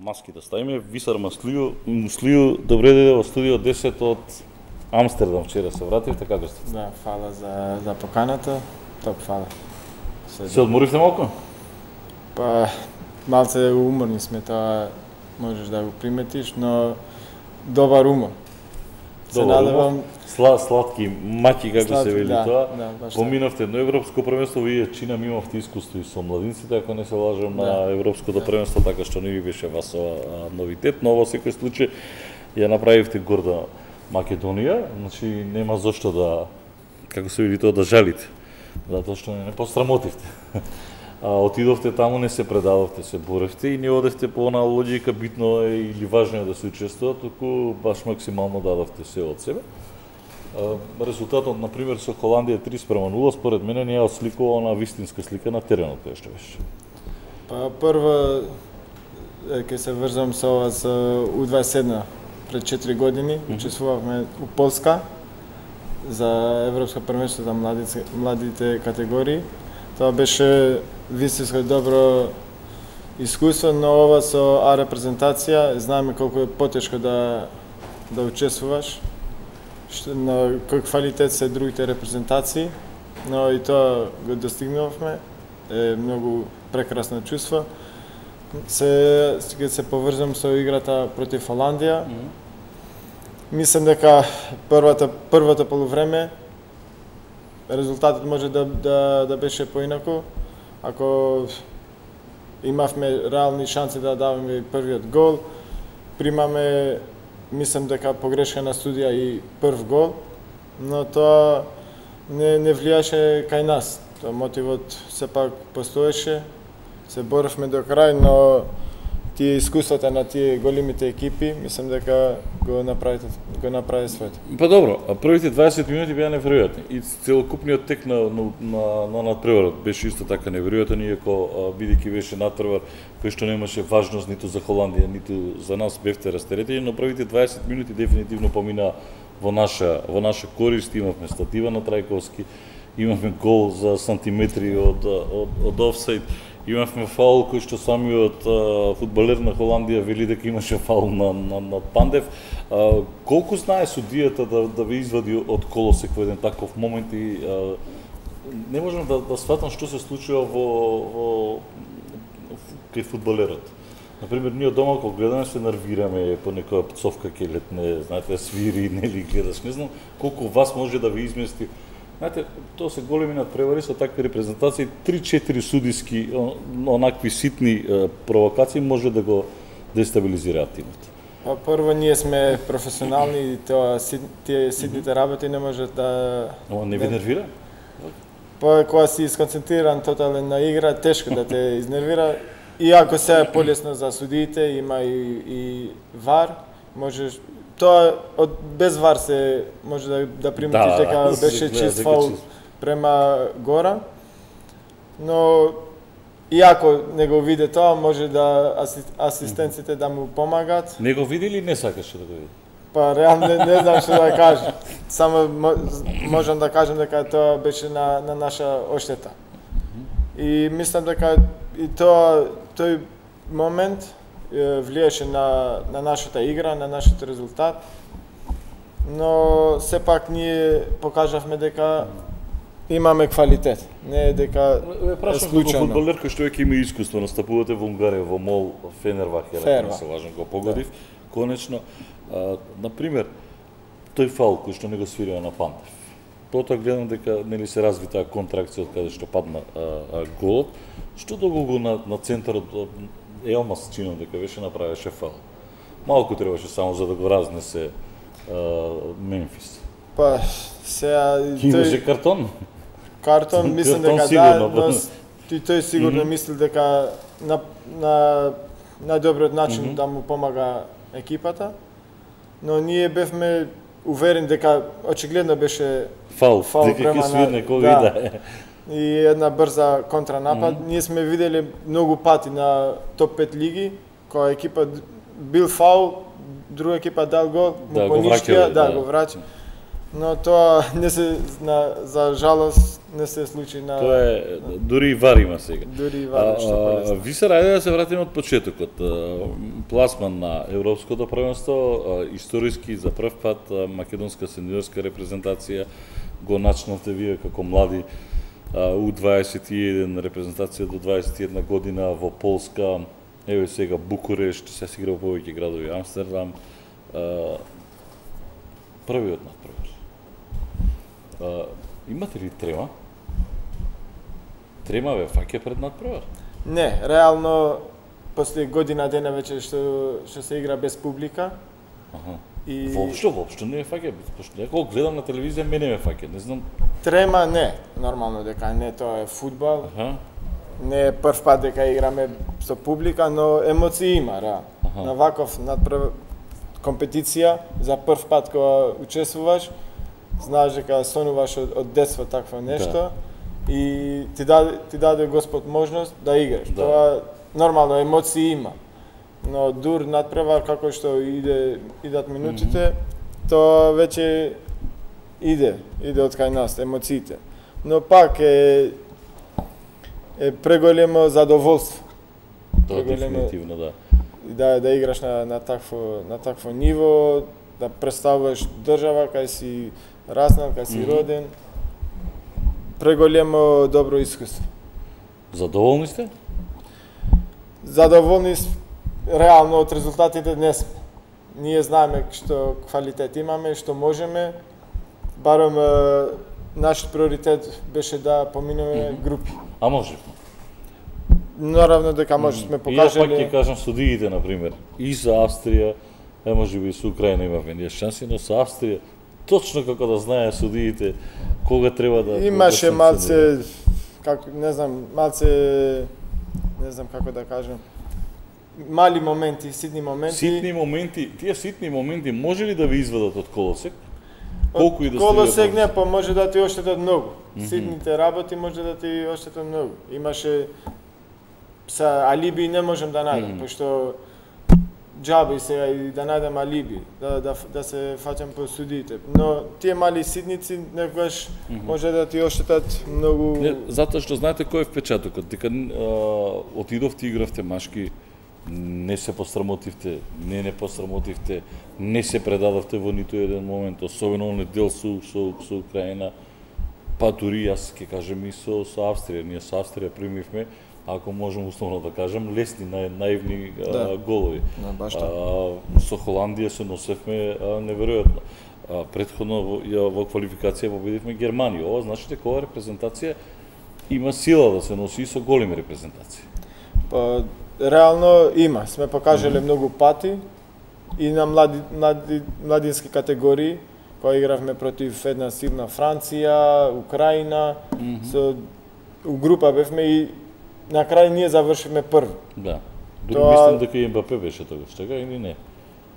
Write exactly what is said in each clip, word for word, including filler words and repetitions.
маски да ставиме. Висар Маслију, Муслију, добре дојде во студио десет од Амстердам, вчера се вративте, како сте? Да, фала за, за поканата, топ фала. Се, се одморивте малку? Па, малце уморни сме, тоа можеш да го приметиш, но добар умор. Се надевам... Сла, сладки маки, како сладки, се вели да, тоа. Да, поминавте едно европско првенство, вие чина имавте искуство и со младинците, ако не се лажам, да. на европското да. првенство, така што не ви беше вас ова новитет, но во секој случај ја направивте горда Македонија, значи нема зошто да, како се вели тоа, да жалите, затоа што не, не пострамотивте. А, отидовте таму, не се предадовте, се боревте и не одевте по она логика битно е или важно е да се учествува, туку баш максимално дадовте се од себе. А, резултатот, например, со Холандија три спрема нула, според мене не ја осликува она вистинска слика на теренот која што беше. Па прво, ќе се врзам со ова со У дваесет и едно. Пред четири години mm-hmm. учествувавме у Полска за Европско првенство за младите, младите категории. Тоа беше вистинско добро искуство, но ова со А репрезентација, знаеме колку е потешко да да учествуваш, што на кој квалитет се другите репрезентации, но и тоа го достигнувавме. Е многу прекрасно чувство. Се ќе се поврзам со играта против Холандија. Mm-hmm. Мислам дека првата првото полувреме резултатот може да да да беше поинаку. Ако имавме реални шанси да даваме првиот гол, примаме, мислам дека погрешка на студија и прв гол, но тоа не не влијаше кај нас. Тоа мотивот сепак постоеше. Се боровме до крај, но тие искуствата на тие големите екипи, мислам дека го направи го направи своето. Па добро, а првите дваесет минути беа неверојатни и целокупниот тек на на на, на надпреварот беше исто така неверојатен, иако бидејќи беше надпревар кој што немаше важност ниту за Холандија, ниту за нас, бевте растеретени, но првите дваесет минути дефинитивно помина во наша во наша корист. Имавме статива на Трајковски, имавме гол за сантиметри од од, од офсайд. Имавме фаул кој што самиот а, фудбалер на Холандија вели дека имаше фаул на, на, на Пандев. А, колку знае судијата да, да ве извади од колосек во еден таков момент и а, не можам да, да сватам што се случува во, во кај фудбалерот. Например, ние дома кога гледаме се нервираме по некоја пцовка ќе летне, знаете, свири, нели гледаш, не знам колку вас може да ви измести. Знаете, тоа се големи надпревари со такви репрезентации, три-четири судиски онакви ситни провокации може да го дестабилизираат тимот. Па прво ние сме професионални и тоа тие ситните работи не може да Ама не ви нервира? Па кога си сконцентриран тотален на игра, тешко да те изнервира. Иако се е полесно за судиите, има и, и вар, можеш тоа од без вар се може да да приметиш да, дека беше чист фаул према Гора. Но иако не го виде тоа, може да асистенците да му помагат. Не го види или не сакаше да го види? Па реално не, не знам што да кажам. Само можам да кажам дека тоа беше на на наша оштета. И мислам дека и тоа тој момент влиеше на на нашата игра, на нашиот резултат. Но сепак ние покажавме дека имаме квалитет, не е дека е случајно. Фудбалер кој што веќе има искуство, настапувате во Унгарија, во Мол, Фенербахче, ако не се лажам, го погодив, да. Конечно. А, например, тој фаул кој што не го свирија на Пандев. Потоа гледам дека нели се разви таа контракција од каде што падна а, а, голот, што долго го на, на центарот Елмас чинам дека беше направеше фаул. Малку требаше само за да го разнесе а, Мемфис. Па сега имаше картон. Картон мислам дека да, но и тој сигурно mm -hmm. мисли дека на на најдобриот начин mm -hmm. да му помага екипата. Но ние бевме уверени дека очигледно беше фаул, фаул дека ќе свирне кој да, да е. И една брза контранапад. Mm -hmm. Ние сме видели многу пати на топ пет лиги, кога екипа бил фаул, друга екипа дал гол, да, му понишкија, да, да, го враќа. Но тоа не се на за жалост не се случи на Тоа е дури и вар има сега. Дури и вар што А, полесно. Виса, ајде да се вратиме од почетокот. А, Пласман на Европското првенство, а, историски за прв пат а, македонска сениорска репрезентација го начнавте вие како млади а, У дваесет и еден репрезентација до дваесет и една година во Полска, еве сега Букурешт, се се игра во повеќе градови, Амстердам. А, првиот натпревар. А, имате ли трема? Трема ве фаќа пред натпревар? Не, реално после година дена веќе што што се игра без публика. Аха. И Воопшто, воопшто не ме фаќа, пошто некој гледам на телевизија, мене ме фаќа, не знам. трема не, нормално дека не, тоа е фудбал. Аха. Не е прв пат дека играме со публика, но емоции има, реално. Аха. На ваков надпрев компетиција за прв пат кога учествуваш, знаеш дека сонуваш од, од детство такво нешто. Да. И ти даде, ти даде Господ можност да играш. Да. Тоа нормално емоции има. Но дур надпревар како што иде идат минутите, mm -hmm. тоа веќе иде, иде од кај нас емоциите. Но пак е е преголемо задоволство. Тоа дефинитивно, да. Да да играш на на такво на такво ниво, да представуваш држава кај си раснал, кај си mm -hmm. роден. Преголемо добро искуство. Задоволни сте? Задоволни сме реално од резултатите не сме. Ние знаеме што квалитет имаме, што можеме. Барем е, нашиот приоритет беше да поминеме mm -hmm. групи. А можевме. Наравно дека може сме покажале. И ја пак ќе кажам судиите, например, и за Австрија, е можеби и со Украина имавме ние шанси, но со Австрија точно како да знае судиите кога треба да Имаше да малце како не знам, малце не знам како да кажам. Мали моменти, ситни моменти. Ситни моменти, тие ситни моменти може ли да ви извадат од колосек? Колку и да колосек не, па може да ти оштетат многу. Mm -hmm. Ситните работи може да ти оштетат многу. Имаше са алиби не можам да најдам, mm -hmm. пошто џаби сега и да најдам алиби, да, да, да се фаќам по судиите. Но тие мали ситници некогаш mm -hmm. може да ти оштетат многу. Не, затоа што знаете кој е впечатокот, дека а, отидовте игравте машки, не се посрамотивте, не не посрамотивте, не се предадовте во ниту еден момент, особено оние дел со, со, со Украина, па дури јас ќе кажем и со, со Австрија. Ние со Австрија примивме, ако можем условно да кажем, лесни, нај, наивни да. а, голови. Да, баш а, така. со Холандија се носевме а, неверојатно. А, предходно во, ја, во квалификација победивме Германија. Ова значи дека ова репрезентација има сила да се носи и со големи репрезентации. Па реално има, сме покажале mm -hmm. многу пати и на млади, млади младински категории, кога игравме против една силна Франција, Украина, mm -hmm. со у група бевме и на крај ние завршивме први. Да. Дури Тоа... мислам дека и Ембапе беше тогаш, така или не?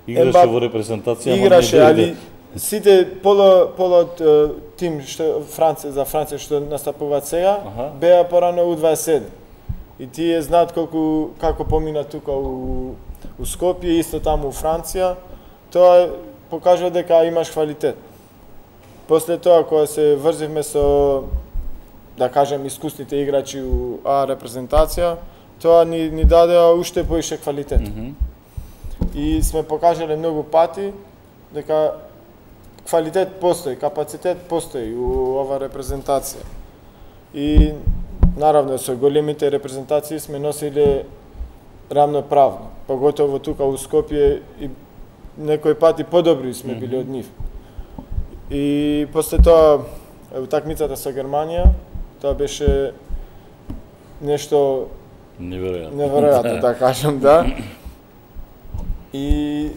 Играше Ембап... во репрезентација, играше, али сите поло поло тим што Франција за Франција што настапуваат сега, ага. беа порано У дваесет и седум. И тие знаат колку како помина тука у у Скопје, исто таму у Франција, тоа покажува дека имаш квалитет. После тоа кога се врзивме со да кажем искусните играчи у А репрезентација, тоа ни ни даде уште поише квалитет. Mm -hmm. И сме покажале многу пати дека квалитет постои, капацитет постои у ова репрезентација. И наравно со големите репрезентации сме носиле рамноправно, поготово тука у Скопје и некои пати подобри сме били mm -hmm. од нив. И после тоа утакмицата со Германија, тоа беше нешто неверојатно, неверојатно да кажам, да. И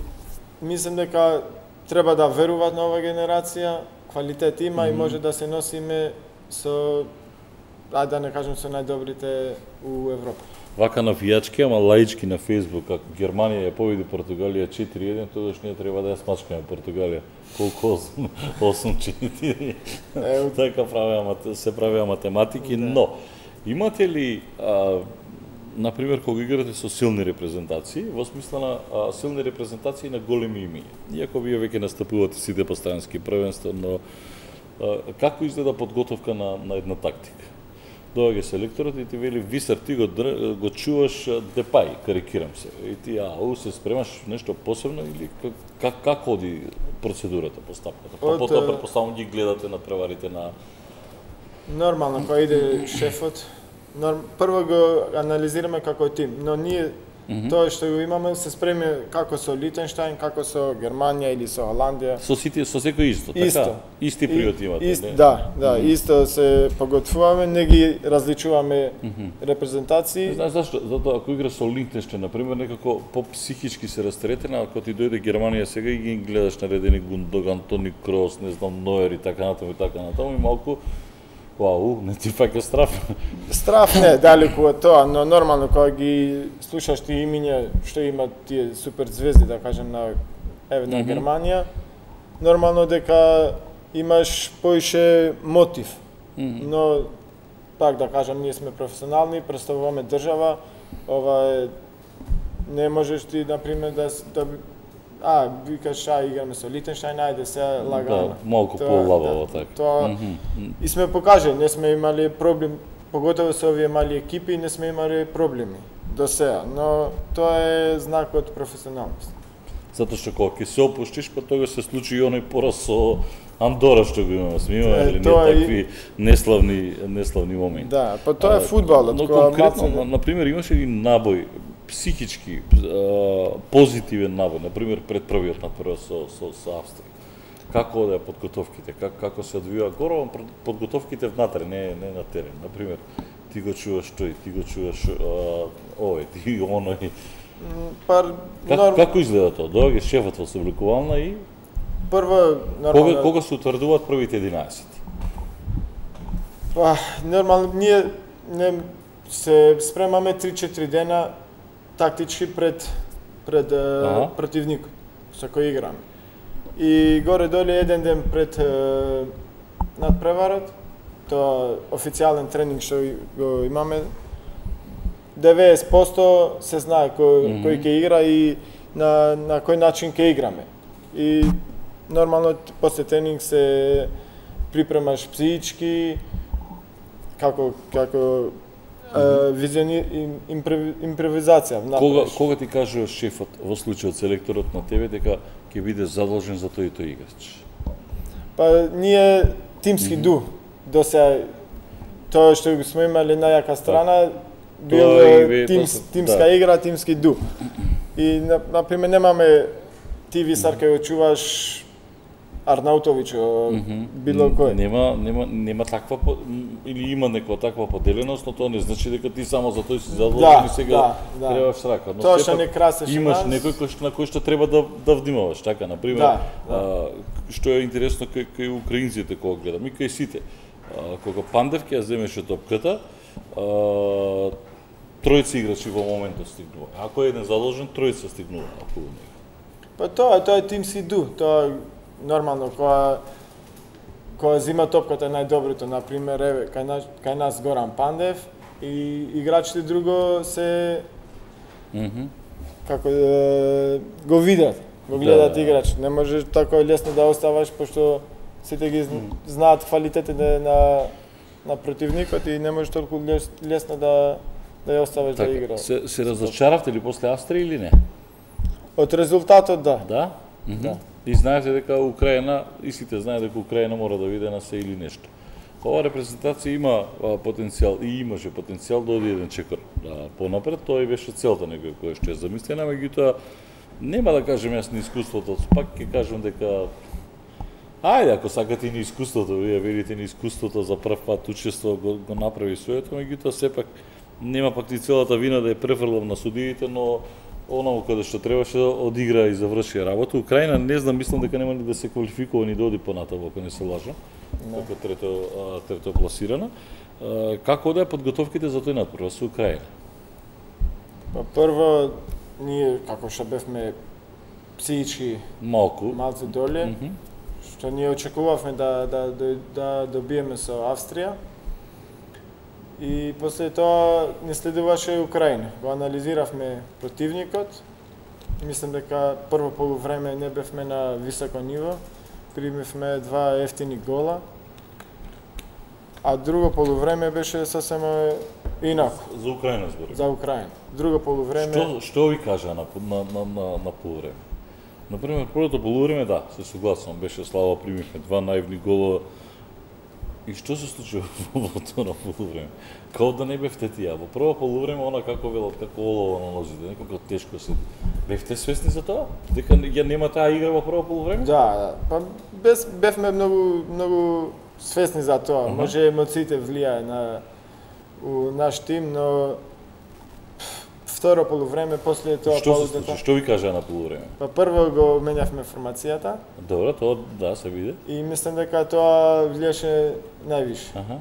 мислам дека треба да веруваат на оваа генерација, квалитет има mm -hmm. и може да се носиме со, ајде да не кажем со најдобрите у Европа. Вака навијачки, ама лаички на Facebook, ако Германија ја победи Португалија четири еден, тогаш ние треба да ја смачкаме Португалија. Колку осум четири. Така правеа, се правеа математики, да. Но имате ли а, например, кога играте со силни репрезентации, во смисла на а, силни репрезентации на големи имиња. Иако вие веќе настапувате сите по странски првенства, но а, како изгледа подготовка на, на една тактика? Доаѓа селекторот и ти вели, Висар, ти го, го чуваш Депај, карикирам се. И ти, ау, се спремаш нешто посебно или как, как оди процедурата, постапката? Па потоа, предпоставам, ги гледате на преварите на... Нормално, кога иде шефот, норм... прво го анализираме како тим, но ние mm -hmm. тоа што го имаме се спреми како со Лихтенштајн, како со Германија или со Холандија. Со сите, со секој исто, така? Исто. Исти приоритети имате, ист, не? Да, да, mm -hmm. исто се поготвуваме, не ги различуваме mm -hmm. репрезентации. Знаеш зашто? Затоа ако игра со Лихтенштајн, например, некако по-психички се растретена, ако ти дојде Германија сега и ги гледаш наредени Гундоган, Тони Крос, не знам, Ноер и така натаму и така натаму, и малку вау, не ти фаќа страф. Страф не, далеку од тоа, но нормално кога ги слушаш ти имиња што имат тие супер звезди, да кажем, на еве на mm -hmm. Германија, нормално дека имаш поише мотив. Mm -hmm. Но пак да кажем, ние сме професионални, представуваме држава, ова е не можеш ти на пример да да а, викаш, а, играме со Лихтенштајн, ајде се лагано. Да, малку по-лабаво, така. Тоа, mm -hmm. И сме покажали, не сме имали проблем, поготово со овие мали екипи, не сме имали проблеми до сега, но тоа е знак од професионалност. Затоа што кога ќе се опуштиш, па тога се случи и оној пораз со Андора што го имаме, сме имали или не такви и... неславни неславни моменти. Да, па тоа е фудбалот. Но конкретно, на, на пример, имаше един набој психички позитивен набој, на пример пред првиот натпревар со со со Австрија. Како одеа подготовките, как, како се одвива горова подготовките внатре, не не на терен. На пример, ти го чуваш тој, ти го чуваш овој, ти оној. Пар как, норм... како изгледа тоа? Доаѓа шефот во собликувална и прво нормално кога кога се утврдуваат првите единаесет? Па нормално ние не се спремаме три-четири дена тактички пред пред ага. противникот со кој играме. И горе-доле еден ден пред надпреварот, тоа официјален тренинг што го имаме, деветдесет проценти се знае кој, mm -hmm. кој ќе игра и на, на кој начин ќе играме. И нормално после тренинг се припремаш психички, како, како mm -hmm. визиони, импровизација. Кога, кога ти кажува шефот, во случајот селекторот на тебе, дека ќе биде задолжен за тој и тој играч? Па ние тимски mm -hmm. ду. До сега тоа што го сме имали најака страна, бил тимс, тимска да. игра, тимски ду. И на, на пример немаме ти Висар кај го чуваш Арнаутовиќ, mm -hmm. било кој. Нема нема нема таква или има некоја таква поделеност, но тоа не значи дека ти само за тој си задолжен да, и сега да, да. требаш рака. Но тоа што не красеше имаш нас... некој кој на кој што треба да да внимаваш, така на пример. Да, да. А, што е интересно кај кај украинците кога гледам и кај сите. А, кога Пандев ќе ја земеше топката, а, тројца играчи во моментот стигнува. Ако е еден задолжен, тројца стигнува околу него. Па тоа, тоа е тимски ду. Тоа нормално кога кога зима топката е најдоброто, на пример, еве кај нас, кај нас Горан Пандев и играчите друго се mm -hmm. како е, го видат, го гледат да, играч. Не може така лесно да оставаш пошто сите ги знаат квалитетите на на противникот и не може толку лесно да да ја оставиш так, да игра. Се се разочаравте ли после Австрија или не? Од резултатот да. Да? Mm -hmm. Да. И знаете дека Украина, и сите знаат дека Украина мора да биде на се или нешто. Ова репрезентација има а, потенцијал и имаше потенцијал да оди еден чекор да, понапред, тоа и беше целта некоја која што е замислена, меѓутоа нема да кажем јас на искуството, пак ќе кажам дека ајде, ако сакате и на искуството, вие видите на искуството за прв пат учество го, го направи своето, меѓутоа сепак нема пак ни целата вина да ја префрлам на судиите, но оново каде што требаше да одигра и заврши работа. Украина не знам, мислам дека нема ни да се квалификува ни да оди понатаму, ако не се лажам, како трето трето пласирана. Како одеа подготовките за тој натпревар со Украина? Па прво ние како што бевме психички малку малку доле, mm -hmm. што ние очекувавме да да да, да добиеме со Австрија. И после тоа не следуваше Украина. Го анализиравме противникот. Мислам дека прво полувреме не бевме на високо ниво. Примивме два ефтини гола. А друго полувреме беше сосем инако. За Украина збори. За Украина. Друго полувреме... Што, што ви кажа на, на, на, на, на полувреме? Например, првото полувреме, да, се согласувам, беше слава, примивме два наивни гола. И што се случи во тоа полувреме? Као да не бевте тие. Во прво полувреме, она како велат, како олово на нозите, некако тешко се. Бевте свесни за тоа? Дека ја нема таа игра во прво полувреме? Да, да. Па без, бевме многу, многу свесни за тоа. Uh -huh. Може емоциите влијае на у наш тим, но второ полувреме после тоа што паузата. Се случи? Што ви кажа на полувреме? Па прво го менјавме формацијата. Добро, тоа да се види. И мислам дека тоа влијаше највише. Аха.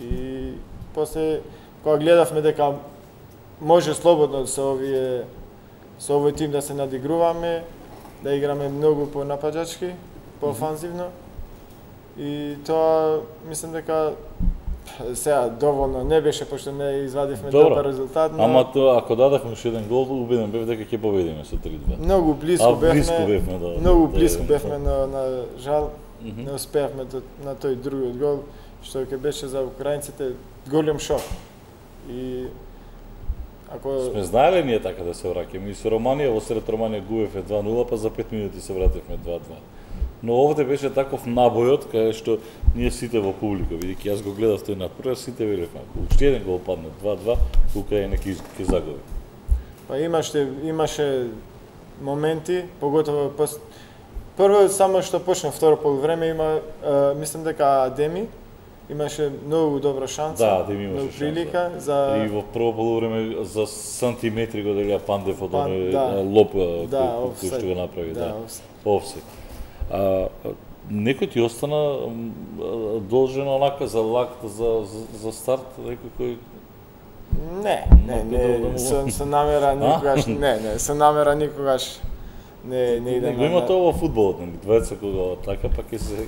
И после кога гледавме дека може слободно со овие со овој тим да се надигруваме, да играме многу понапаѓачки, поофанзивно. И тоа мислам дека сега доволно не беше пошто не извадивме Добро. добар резултат, но Ама тоа ако дадевме уште еден гол, убеден бев дека ќе победиме со три две. многу близко А, бевме. близко бевме, да. Многу да, близко да, бевме, да. но на жал Mm -hmm. не успеавме до, на тој другиот гол, што ќе беше за украинците голем шок. И ако Сме знаеле ние така да се враќаме и со Романија, во сред Романија губевме два нула, па за пет минути се вративме два два. Но овде беше таков набојот кај што ние сите во публика, бидејќи јас го гледав тој надпревар, сите велевме, ако уште еден гол падне два два, Украина ќе ќе загуби. па имаше имаше моменти, поготово пос... прво само што почна второ полувреме има е, мислам дека Адеми имаше многу добра шанса, Да, Адеми имаше многу шанса. прилика за И во прво полувреме за сантиметри го делија Пандев од Пан- оној да. лоп да, кој, кој офсайд. што го направи, да. Да, офсайд. Офсайд. А, а, некој ти остана м, а, должен онака за лак за, за, за старт, некој кој Не, не, Многу добро да не, му- со, со намера никогаш, не, не, со намера никогаш не, не идем Го има тоа во фудбалот, нели? Двајца кога така па ќе се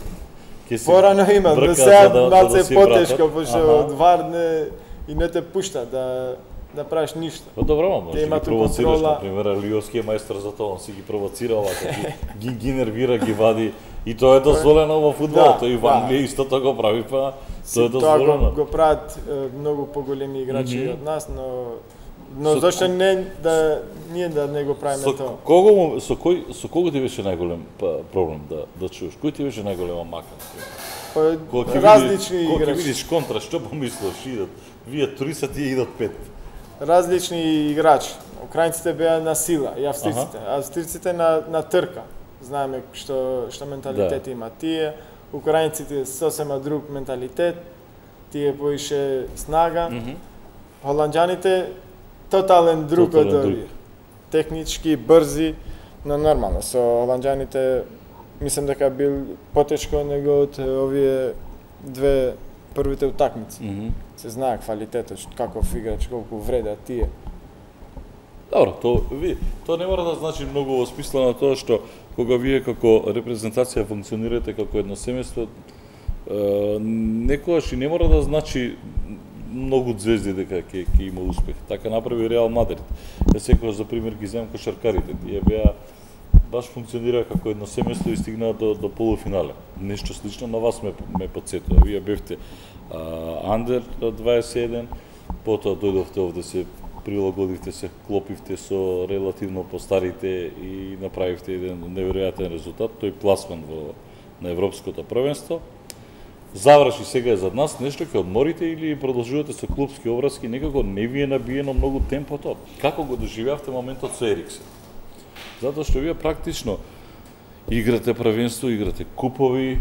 ќе се Порано има, бркаат до сега за да- за да малце си потешко, вратат. пошто Аха. од вар не, и не те пушта да да правиш ништо. Па добро, ма, може Те да имаат ги провоцираш, контрола. например, Алиовски е мајстор за тоа, он си ги провоцира овака, ги, ги, ги нервира, ги вади, и тоа е дозволено во фудбалот, Да, тој и во да. Англија исто тоа го прави, па тоа е Тоа дозволено. го, го прават е, многу поголеми играчи Мгм. од нас, но но Со- зашто не да ние да не го правиме Со тоа? кого му- со кој со кого ти беше најголем па, проблем да да чуеш? Кој ти беше најголема мака? Па, Кога ќе различни видиш, кога ќе играчи. видиш контра, што помислиш, идат, вие туриста тие идат пет. Различни играчи. Украинците беа на сила и австриците. Аха. Австриците на на трка. Знаеме што што менталитет Да. има тие. Украинците сосема друг менталитет. Тие поише снага. Мгм. Холанѓаните тотален друг од Тотален друг. овие. Технички, брзи, но нормално со холанѓаните мислам дека бил потешко него од овие две првите утакмици. Мгм. Се знае квалитетот, што- каков играч, колку вредат тие. Добро, тоа ви, тоа не мора да значи многу во смисла на тоа што кога вие како репрезентација функционирате како едно семејство, е, некогаш и не мора да значи многу звезди дека ќе ќе има успех. Така направи Реал Мадрид. Ја секогаш за пример ги земам кошаркарите. Тие беа баш функционира како едно семејство и стигнаа до до полуфинале. Нешто слично на вас ме ме потсетува. Вие бевте андер дваесет и еден, потоа дојдовте овде се прилагодивте се, клопивте со релативно постарите и направивте еден неверојатен резултат, тој пласман во на европското првенство. Заврши сега е зад нас, нешто ќе одморите или продолжувате со клубски обврски, некако не ви е набиено многу темпото. Како го доживеавте моментот со Ериксен? Затоа што вие практично играте првенство, играте купови,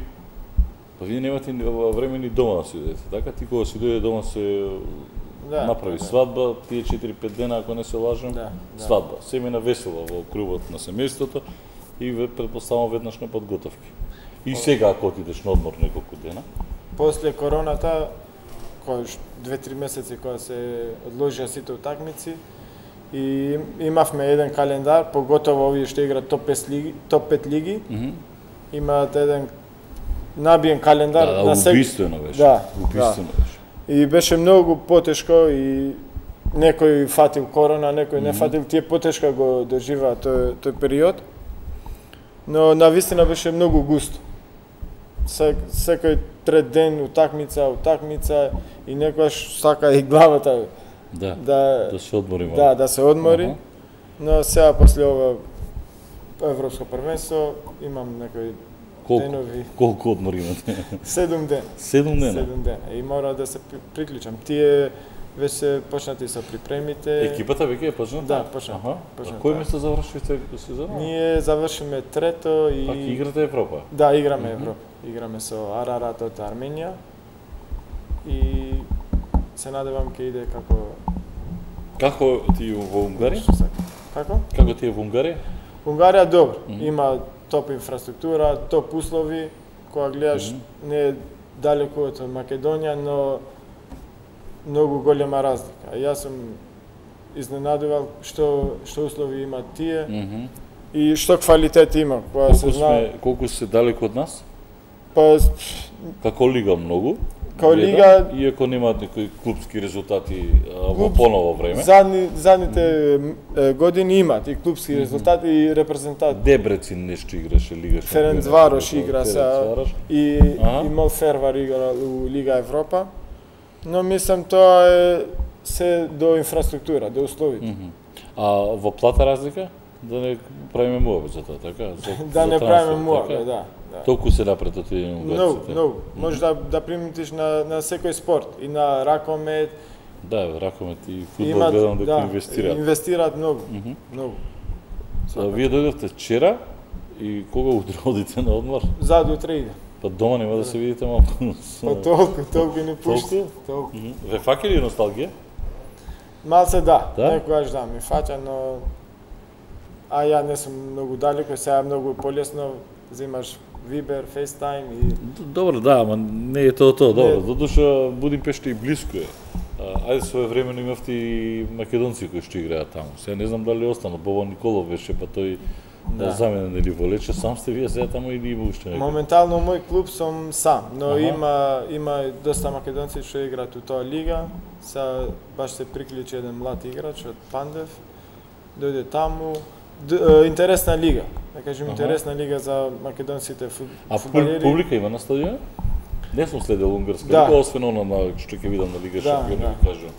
па вие немате ни време ни дома да си дојдете, така? Ти кога си дојде дома се Да, направи да. свадба, тие четири-пет дена, ако не се лажам, Да, да. свадба. Семена весела во крувот на семејството и ве предпоставам веднаш на подготовки. И сега ако отидеш на одмор неколку дена, После короната, кој ш- две-три месеци кога се одложија сите утакмици, и им- имавме еден календар, поготово овие што играат топ пет лиги, топ пет лиги, мгм. имаат еден набиен календар да, на да, сек... убиствено беше. Да, убиствено беше. И беше многу потешко и некој фатил корона, некој не фатил, тие потешко го доживаа тој тој период. Но навистина беше многу густо. Сек, секој трет ден утакмица, утакмица и некојаш сака и главата Да. да Да се одмори малку. Да, да се одмори. Аха. Но сега после ова Европско првенство имам некои Колку? денови, Колку одмори имате? седум дена. Седум дена. Седум дена. И мора да се при- приклучам. Тие веќе почнати со припремите. Екипата веќе е почната? Да, почна. Аха. почна, А кој да. место завршивте сезона? Ние завршиме трето и Пак играте Европа. Да, играме Мгм. Европа. Играме со Арарат од Арменија. И се надевам ќе иде како Како ти во Унгарија? што сака. Како? Како ти е во Унгарија? Унгарија добро. Мгм. Има топ инфраструктура, топ услови, кога гледаш не е далеку од Македонија, но многу голема разлика. Јас сум изненадувал што што услови имаат тие Мгм. и што квалитет има, кога се Колку знае. сме колку се далеку од нас? Па Како лига многу. Као гледам, лига- иако немаат некои клубски резултати а, во Клуб- поново време. задни задните е, години имаат и клубски резултати и репрезентат. Дебрецин нешто играше лига. Ференц шампион, Варош Ференц игра сега Варош. и Аха. и Молфервар игра у Лига Европа. Но мислам тоа е се до инфраструктура, до условите. Мгм. А во плата разлика? Да не правиме муабет за тоа, така? За, Да за не трансфер, правиме муабе, така? да. да. Толку се напред од тие Многу, унгарците. многу. Може да да приметиш на на секој спорт и на ракомет. Да, ракомет и фудбал Имаат, гледам дека да, инвестираат. Инвестираат многу, Мгм. многу. А вие дојдовте вчера и кога утре одите на одмор? Зад утре иде. Па дома нема да се видите малку. Па толку, толку не пушти. Толку? Толку. Мгм. Ве фаќа ли носталгија? Малце да, Да? некогаш да ми фаќа, но а ја не сум многу далеко, сега е многу полесно, взимаш Viber, FaceTime и Добро, да, ама не е тоа тоа, добро. Не. Додуша Будимпешта и блиску е. А, ајде своевремено имавте и македонци кои што играат таму. Сега не знам дали остана, Боба Николов беше, па тој да. Да. заменен или во Лече, сам сте вие сега таму или има уште некој? моментално у мој клуб сум сам, но Аха. има има и доста македонци што играат у тоа лига. Са баш се приклучи еден млад играч од Пандев. Дојде таму. Д, е, интересна лига. Да кажем Аха. интересна лига за македонците фут, А пу- фудбалери. публика има на стадион? Не сум следел унгарска Да. лига, освен она на што ќе видам на Лига Да, Шампиони, да. ви кажувам.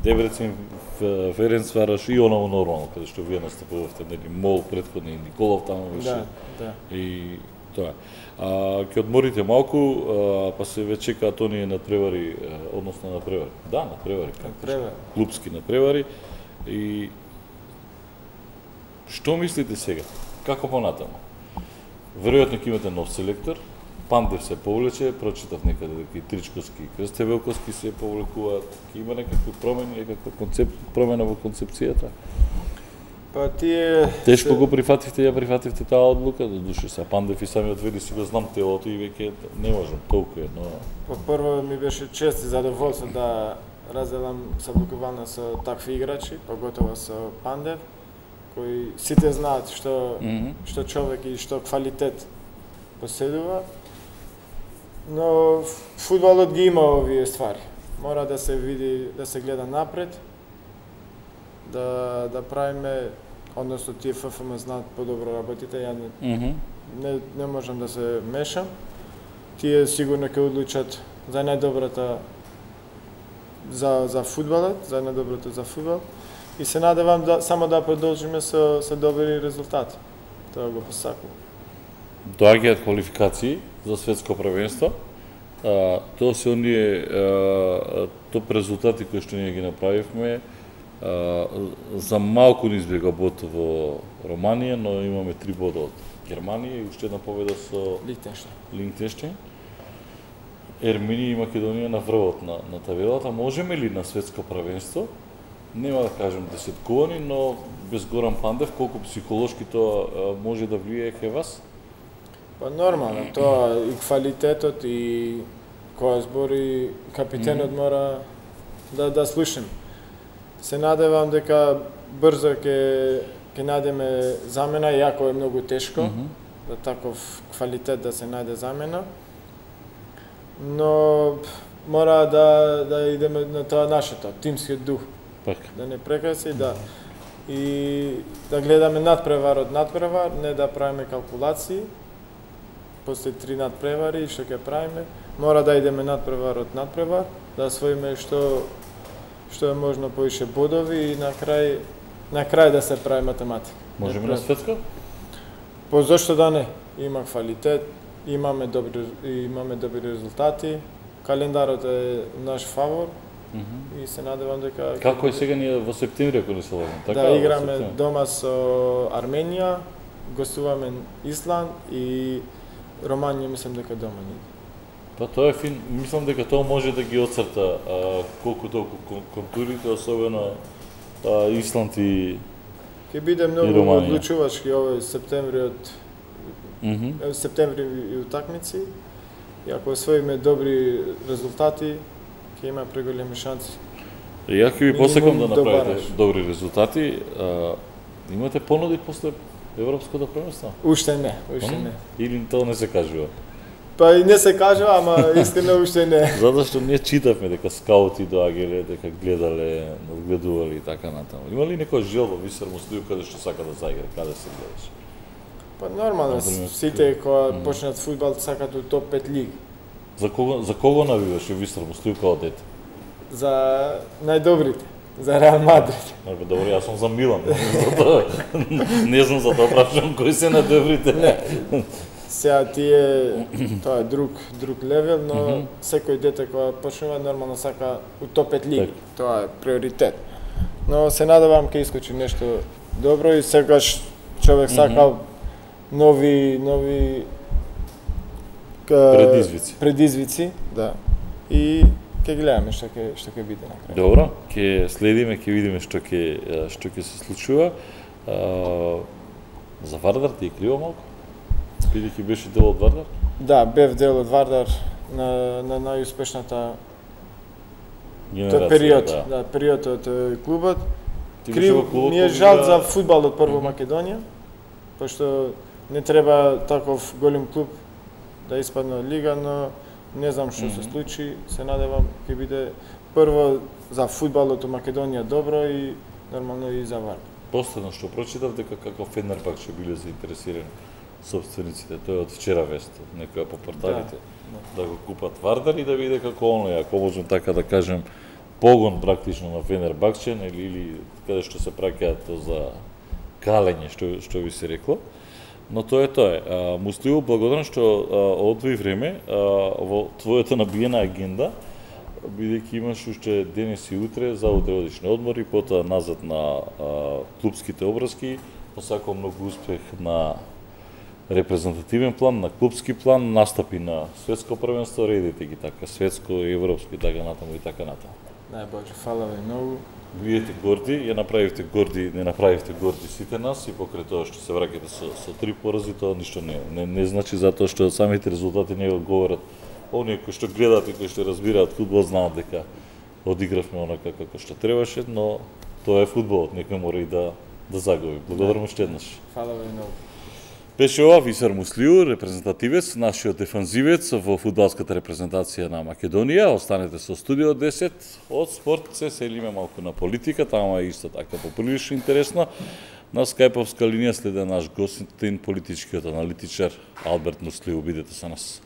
Дебрецин, Ф- Ференц Варош и оново нормално, каде што вие настапувавте, нели, Мол претходни, Николов таму беше. Да, да. И тоа. А ќе одморите малку, а, па се веќе чекаат оние надпревари, а, односно надпревари. Да, надпревари, Превар. клубски надпревари. И што мислите сега? Како понатаму? Веројатно ќе имате нов селектор. Пандев се повлече, прочитав некаде дека и Тричковски и Крсте Велковски се повлекуваат. Ќе има некакви промени, некаква концеп... промена во концепцијата? Па тие Тешко се- го прифативте, ја прифативте таа одлука, до душе се Пандев и самиот вели си го знам телото и веќе не можам, толку е, но Па прво ми беше чест и задоволство да разделам саблукувална со такви играчи, поготово со Пандев, кои сите знаат што Мгм. што човек и што квалитет поседува. Но фудбалот ги има овие ствари. Мора да се види, да се гледа напред, да да правиме, односно тие Ф Ф М знаат подобро работите, ја не, Мгм. не, не можам да се мешам. Тие сигурно ќе одлучат за најдобрата за за фудбалот, за најдоброто за фудбал. И се надевам да само да продолжиме со со добри резултати. Тоа го посакувам. Доаѓаат квалификации за светско првенство. А, тоа се оние а, топ резултати кои што ние ги направивме. А, за малку ни избега бод во Романија, но имаме три бода од Германија и уште една победа со Лихтенштейн. Линктенштейн. Ерменија и Македонија на врвот на, на табелата. Можеме ли на светско првенство? Нема да кажем десеткувани, но без Горан Пандев, колку психолошки тоа а, може да влијае кај вас? Па нормално, тоа и квалитетот и која збори капитенот мора да да слушам. Се надевам дека брзо ќе ќе најдеме замена, иако е многу тешко Мгм. за таков квалитет да се најде замена. Но мора да да идеме на тоа нашето, тимскиот дух. Така. Да не прекраси, да и да гледаме надпревар од надпревар, не да правиме калкулации. После три надпревари што ќе правиме, мора да идеме надпревар од надпревар, да освоиме што што е можно повише бодови и на крај на крај да се прави математика. Можеме на светско? По зошто да не? Има квалитет, имаме добри имаме добри резултати. Календарот е наш фавор. Mm -hmm. И се надевам дека како е сега ние во септември ако не се лажам, така? Да играме дома со Арменија, гостуваме Исланд и Романија, мислам дека дома ни. Па тоа е фин, мислам дека тоа може да ги оцрта а, колку толку контурите, особено а, Исланд и ќе биде многу одлучувачки овој септемвриот. Mm -hmm. Септември и утакмици. И ако освоиме добри резултати, ќе има преголеми шанси. Ја ќе ви посекам да направите добри резултати. А, имате понуди после Европското првенство? Уште не, уште не. Или тоа не се кажува? Па и не се кажува, ама искрено уште не. Затоа што ние читавме дека скаути доаѓале, дека гледале, надгледували и така натаму. Има ли некој жел во Висар Муслиу каде што сака да заигра, каде се гледаш? Па нормално, сите кога mm. почнат фудбал сакат у топ пет лиги. За кого за кого навиваше Висар Муслиу као дете? За најдобрите, за Реал Мадрид. Добро, добро, јас сум за Милан. Затоа не знам за тоа прашам кои се најдобрите. Не. Сега тие тоа е друг друг левел, но mm -hmm. секој дете кога почнува нормално сака у топ пет лиги. Так. Тоа е приоритет. Но се надевам ќе искочи нешто добро и секогаш човек сака mm -hmm. нови нови предизвици. Предизвици, да. И ќе гледаме што ќе што ќе биде на крај. Добро, ќе следиме, ќе видиме што ќе што ќе се случува. А, за Вардар ти е криво малку? Бидејќи беше дел од Вардар? Да, бев дел од Вардар на на најуспешната период, да. да, период од клубот. Крив, ми е жал за фудбалот прво mm -hmm. Македонија, пошто не треба таков голем клуб да испадне од лига, но не знам што mm -hmm. се случи. Се надевам ќе биде прво за фудбалот во Македонија добро и нормално и за Вардар. Последно што прочитав дека како Фенербахче биле заинтересирани собствениците, тоа е од вчера вест, некоја по порталите, да, да. да го купат Вардар и да види како оно е, ако можем така да кажем, погон практично на Фенербахче, или, или каде што се праќаат за калење, што, што ви се рекло. Но тоа е тоа е. Муслиу, благодарам што одвои време а, во твојата набиена агенда, бидејќи имаш уште денес и утре, за утре одиш на одмор и потоа назад на а, клубските обврски. Посакувам многу успех на репрезентативен план, на клубски план, настапи на светско првенство, редите ги така, светско, европско и така натаму и така натаму. Најбоже, фала ви многу. Биете горди, ја направивте горди, не направивте горди сите нас и покрај тоа што се враќате со, со три порази, тоа ништо не, не, не значи затоа што самите резултати не го говорат. Оние кои што гледаат и кои што разбираат фудбал знаат дека одигравме онака како што требаше, но тоа е фудбалот, некој мора и да да загуби. Благодарам уште еднаш. Фала ви многу. Беше ова Висар Муслиу, репрезентативец, нашиот дефанзивец во фудбалската репрезентација на Македонија. Останете со Студио десет, од спорт се селиме малку на политика, тама е исто така поприлично интересно. На скајповска линија следе наш гостин, политичкиот аналитичар Алберт Муслиу. Бидете со нас.